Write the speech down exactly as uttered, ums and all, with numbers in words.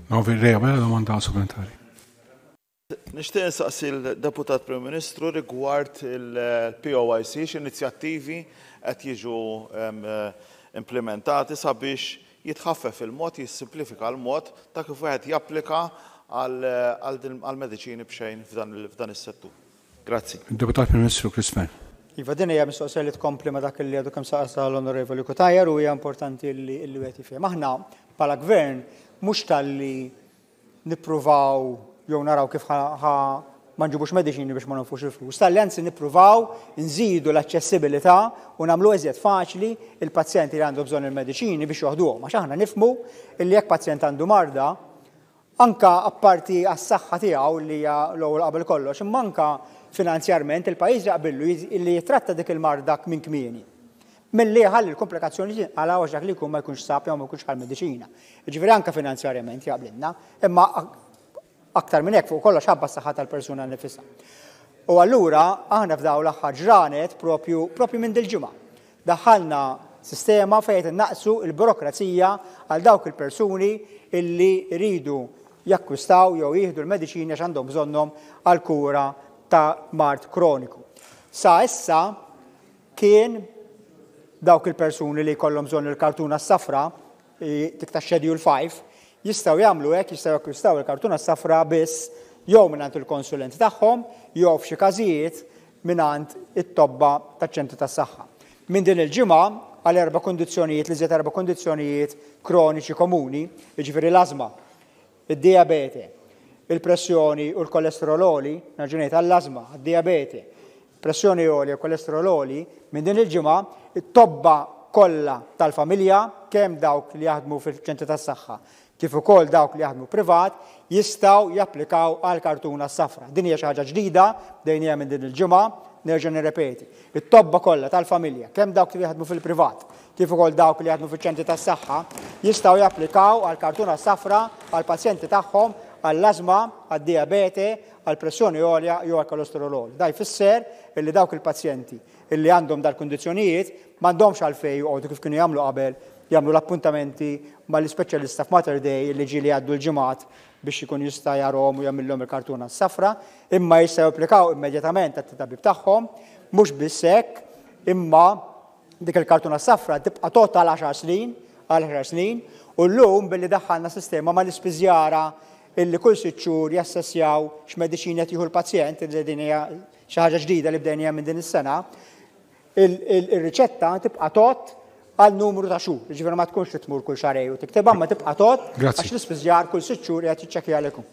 Onorevoli Abela, domanda supplementari. Nixtieq insaqsi l-Deputat Prim Ministru rigward il-P O I C, x'inizjattivi qed jiġu implementati sabiex jitħaffef il-mod, jissimplifika l-mod ta' kif wieħed japplika għal mediċini b'xejn f'dan is-settur. Grazzi. Deputat Prim Ministru Chris Fearne. Iva, din hija mistoqsija li tkompli ma dak li għadu kemm saqsa l-Onorevoli Cutajar u hija importanti li li wieħed jifhem. Aħna bħala gvern mhux talli nippruvaw jew naraw kif ħa ma nġibux mediċini biex ma nonfqux il-flus. Talli anzi nippruvaw nżidu l-aċċessibilità u nagħmlu eżjed faċli il-pazjenti li għandu bżonn il-mediċini biex joħduhom. Għax aħna nifhmu illi jekk pazjent għandu marda, anka apparti għas-saħħa tiegħu li hija l-ewwel qabel kollox, imma anka finanzjarment il-pajjiż jaqbillu li jitratta dik il-marda minn kmieni milli ħalli l-komplikazzjoni għala għax dak li jkun ma jkunx sab jew ma jkunx ħa l-mediċina. Ġifieri anka finanzjarjament jaqblilna, imma aktar minn hekk, fuq kollox ħabba s-saħħa tal-persuna nifisha. U allura aħna f'daw l-aħħar ġranet, propju propju minn dil-ġimgħa, daħħalna sistema fejn innaqsu il-burokrazija għal dawk il-persuni illi jridu jakkwistaw jew jieħdu l-mediċini għax għandhom bżonnhom għal kura ta' mard kroniku. Sa issa kien dawk il-persuni li jkollhom bżonn il-kartuna s-safra, dik ta' Schedule five, jistgħu jagħmlu hekk, jistgħu jakkwistaw il-kartuna s-safra biss jew mingħand il-konsulent tagħhom jew f'xi każijiet mingħand it-tobba taċ-ċentru tas-saħħa. Minn din il-ġimgħa, għal erba' kondizzjonijiet, li erba' kondizzjonijiet kroniċi komuni, jiġifieri l-ażma, id-diabete, il-pressjoni u l-kolesterol għoli, nerġa' ngħid, għall-ażma, għad-diabete, pressjoni għoli u kolesterol għoli, minn din il-ġimgħa it-tobba kollha tal-familja, kemm dawk li jaħdmu fil-ċentri tas-saħħa kif ukoll dawk li jaħdmu privat, jistgħu japplikaw għal kartuna safra. Din hija xi ħaġa ġdida, bdejnieha minn din il-ġimgħa, nerġa' nirrepeti. It-tobba kollha tal-familja, kemm dawk li jaħdmu fil-privat kif ukoll dawk li jaħdmu fiċ-ċentri tas-saħħa, jistgħu japplikaw għal kartuna safra għal pazjenti tagħhom għall-ażma, għad-diabete, għall-pressjoni għolja jew għall-kolesterol għoli. Da jfisser illi dawk il-pazjenti illi għandhom dal-kundizzjonijiet m'għandhomx għalfejn joqogħdu, kif kienu jagħmlu qabel, jagħmlu l-appuntamenti mal-ispeċjalista f'Mater Dei li ġieli għaddu l-ġimgħat biex ikun jista' jarahom u jagħmilhom il-kartuna s-safra, imma jistgħu japplikaw immedjatament għat-tabib tagħhom. Mhux biss hekk, imma dik il-kartuna safra tibqa' tgħodd għal għaxar snin, għal għaxar snin, u llum billi daħħalna sistema mal-ispiżjara illi kull sitt xhur jassessjaw x'mediċini qed jieħu l-pazjent, li din hija xi ħaġa ġdida li bdejnija minn din is-sena, il-riċetta tibqa' tgħodd għal numru ta' xhur. Ġifieri ma tkunx tmur kull xahrejn u tiktibha, ma tibqa' tgħodd għax l-ispiżjar kull sitt xhur qed jiċċekkja għalikum.